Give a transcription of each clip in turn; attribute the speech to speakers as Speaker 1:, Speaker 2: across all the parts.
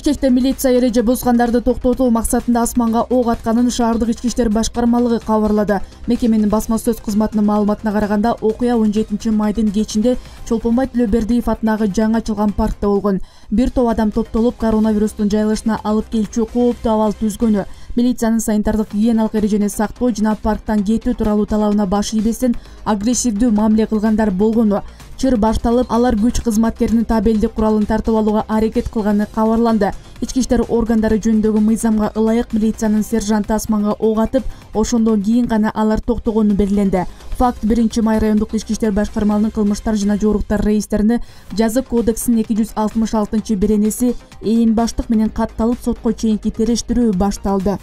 Speaker 1: Бишкекте милиция эреже бузгандарды токтотуу максатында асманга ок атканын шаардык ички иштер башкармалыгы кабарлады. Мекеменин басма сөз кызматынын маалыматына караганда, окуя 17-майдын кечинде Чолпонбай Төлөбердиев атындагы жаңы ачылган паркта болгон. Бир топ адам топтолуп коронавирустун жайылышына алып келчү кооптуу абал түзгөнү, милициянын санитардык гигиеналык эрежени сактоо жана парктан кетүү тууралуу талабына баш ийбестен агрессивдүү мамиле кылгандар болгону, чыр башталып, алар күч кызматкеринин табелдик куралын тартып алууга аракет кылганы кабарланды. Ички иштер органдары жөнүндөгү мыйзамга ылайык милициянын сержанты асманга ок атып, ошондон кийин гана алар токтогону белгиленди. Факт 1-май райондук ички иштер башкармалыгынын кылмыштар жана жоруктар рейистерине жазык кодексинин 266-беренеси ээн баштык менен катталып, сотко чейинки териштирүү башталды.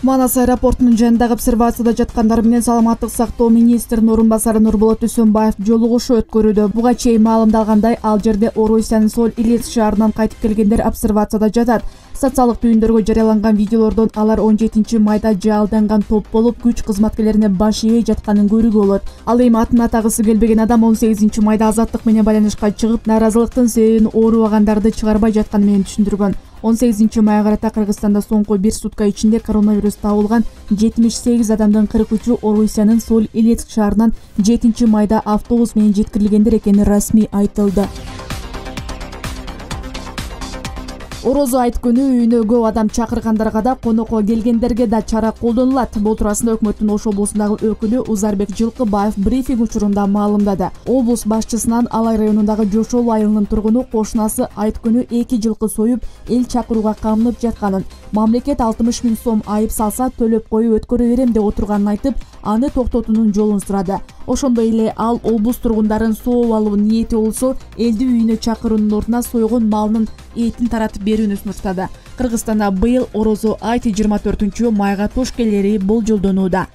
Speaker 1: Манас аэропортунун жанындагы обсервацияда жаткандар менен саламаттык сактоо министринин орун басары Нурболот Үсөнбаев жолугушуу өткөрүүдө. Буга чейин маалымдалгандай, ал жерде Орусиянын Соль-Илецк шаарынан кайтып келгендер обсервацияда жатат. Социалдык түйүндөргө жарыяланган видеолордон алар 17-майда жаалданган топ болуп, күч кызматкерлерине баш ийбей жатканын көрүүгө болот. Ал эми атын атагысы келбеген адам 18-майда азаттык менен байланышка чыгып, нааразылыктын себебин оорубагандарды чыгарбай жатканы менен түшүндүргөн. 18-майга карата Кыргызстанда соңку 1 сутка ичинде коронавирус табылган 78 адамдын 43-ü Орусиянын Соль-Илецк шаарынан 7-майда автобус менен жеткирилгендер экени расмий айтылды. Орозо айт күнү үйүнө көп адам чакыргандарга да, конокко келгендерге да чара колдонулат. Бул туурасында өкмөттүн Ош облусундагы өкүлү Узарбек Жылкыбаев брифинг учурунда маалымдады. Облус башчысынан Алай районундагы Жошол айылынын тургуну кошунасы айт күнү 2 жылкы союп, эл чакырууга камынып жатканын, мамлекет 60 000 сом айып салса төлөп коюп өткөрө берем деп отурганын айтып, аны токтотуунун жолун сурады. Ошондой эле ал облус тургундарын сооп алуу ниети болсо, элди үйүнө чакыруунун ордуна сойгон малынын этин таратып берүүнү сунуштады. Кыргызстанда быйыл Орозо айт 24-майга туш келери болжолдонууда.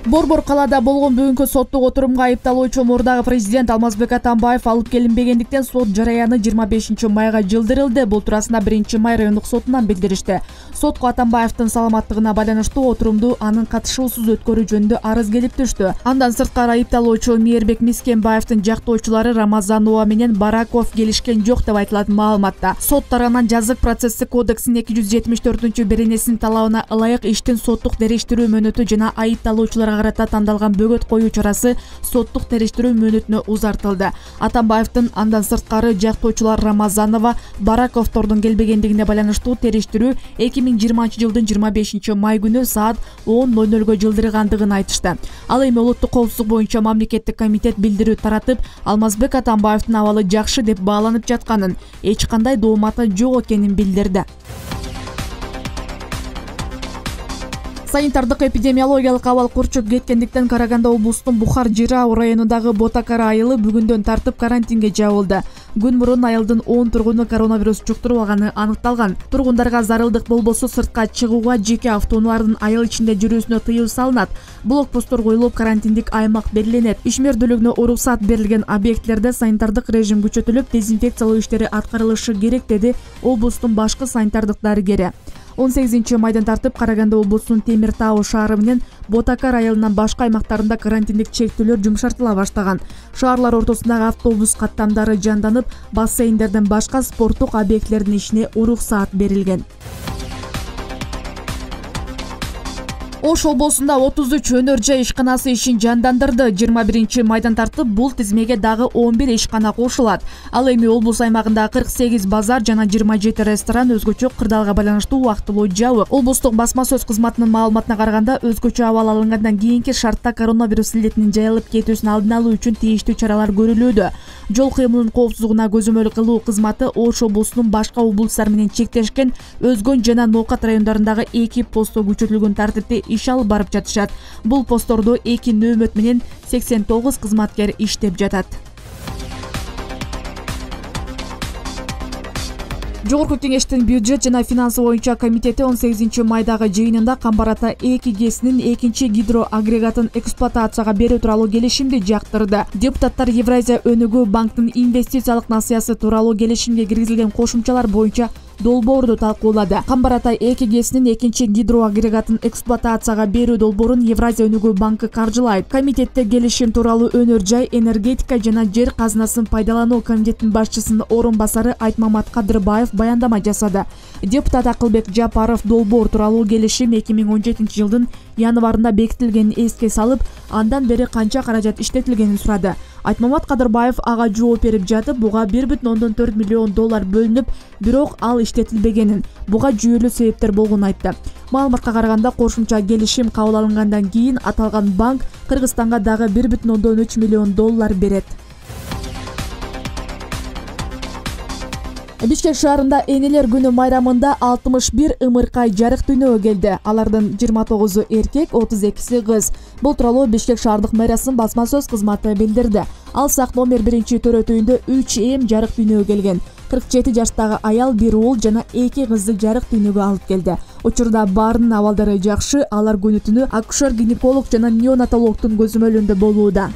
Speaker 1: Борбор калаада болгон бүгүнкү соттук отурумга айыпталуучу мурдагы президент Алмазбек Атамбаев алып келинбегендиктен сот жараяны 25-майга жылдырылды. Бул туурасында 1-май райондук сотунан билдиришти. Сотко Атамбаевдин саламаттыгына байланыштуу отурумду анын катышуусуз өткөрүү жөнүндө арыз келип түштү. Андан сырткары айыпталуучу Мээрбек Мискенбаевдин жактоочулары Рамазанова менен Бараков келишкен жок деп айтылат маалыматта. Сот тарабынан жазык процесстик кодексинин 274-беренесинин талабына ылайык иштин соттук териштирүү мөөнөтү жана айыпталуучуларга карата тандалган бөгөт коюу чарасы соттук териштирүү мөөнөтүнө узартылды. Атамбаевдин андан сырткары жактоочулар Рамазанова, Бараковдордун келбегендигине байланыштуу териштирүү 2020-жылдын 25-май күнү саат 10:00 жылдыргандыгын айтышты. Ал эми улуттук коопсуздук боюнча мамлекеттик комитет билдирүү таратып, Алмазбек Атамбаевдин абалы жакшы деп бааланып жатканын, эч кандай дооматы жок экенин билдирди. Санитардык эпидемиологиялык абал курчуп кеткендиктен Караганда облустун Бухар-Жырау районундагы Ботакара айылы бүгүндөн тартып карантинге жабылды. Күн мурун айылдын 10 тургуну коронавирус жуктуруп алганы аныкталган. Тургундарга зарылдык болбосо сыртка чыгууга, жеке автоунаалардын айыл ичинде жүрүүсүнө тыюу салынат. Блокпосттор коюлуп, карантиндик аймак белгиленет. Ишмердүүлүгүнө уруксат берилген объектилерде санитардык режим күчөтүлүп, дезинфекциялоо иштери аткарылышы керек, деди облустун башкы санитардык дарыгери. 18-майдан тартып Караганда облусунун Темир Тау шаары менен Ботакар айылынын башка аймактарында карантиндик чектөөлөр жумшартыла баштаган. Шаарлар ортосундагы автобус каттамдары жанданып, бассейндерден башка спорттук объектилердин ишине уруксаат берилген. Ош облусунда 33 өнөр жай ишканасы ишин жандандырды. 21-майдан тартып бул тизмеге дагы 11 ишкана кошулат. Ал эми облус аймагында 48 базар жана 27 ресторан өзгөчө кырдаалга байланыштуу убактылуу жабык. Облустук басма сөз кызматынын маалыматына караганда, өзгөчө абал алынгандан кийинки шартта коронавирус илетинин жайылып кетүүсүн алдын алуу үчүн тийиштүү чаралар көрүлүүдө. Жол кыймылынын коопсуздугуна көзөмөл кылуу кызматы Ош облусунун башка облустар менен чектешкен Өзгөн жана Ноокат райондорундагы 2 постто күчөтүлгөн тартипте иш алып барып жатышат. Бул посттордо 2 нөөмөт менен 89 кызматкер иштеп жатат. Жогорку кеңештин бюджет жана финансы боюнча комитети 18-майдагы жыйынында Камбар Ата 2 ГЭСинин 2-чи гидроагрегатын эксплуатацияга берүү тууралуу келишимди жактырды. Депутаттар Евразия өнүгүү банктын инвестициялык насыясы тууралуу келишимге киргизилген кошумчалар боюнча долбоорду талкуулады. Камбар Атай 2 ГЭСинин экинчи гидроагрегатын эксплуатацияга берүү долбоорун Евразия өнүгүү банкы каржылайт. Комитетте келишим тууралуу өнөр жай, энергетика жана жер казынасын пайдалануу комитетинин башчысынын орун басары Айтмамат Кадырбаев баяндама жасады. Депутат Акылбек Жапаров долбоор тууралуу келишим 2017 жылдын январында бекитилгенин эске салып, андан бери канча каражат иштетилгенин сурады. Айтмамат Кадырбаев ага жооп берип жатып, буга 1,4 миллион доллар бөлүнүп, бирок ал иштетилбегенин, буга жүйөлүү себептер болгонун айтты. Маалыматка караганда, кошумча келишим кабыл алынгандан кийин аталган банк Кыргызстанга дагы 1,3 миллион доллар берет. Бишкек шаарында Энелер күнү майрамында 61 ымыркай жарык дүйнөгө келди. Алардын 29-у эркек, 32-си кыз. Бул тууралуу Бишкек шаардык мэриясынын басма сөз кызматы билдирди. Алсак номер 1-төрөтүйүндө 3 эм жарык дүйнөгө келген. 47 жаштагы аял 1 уул жана 2 кызды жарык дүйнөгө алып келди. Учурда баарынын абалдары жакшы, алар күнү-түнү акушер-гинеколог жана неонатологдун көзөмөлүндө болууда.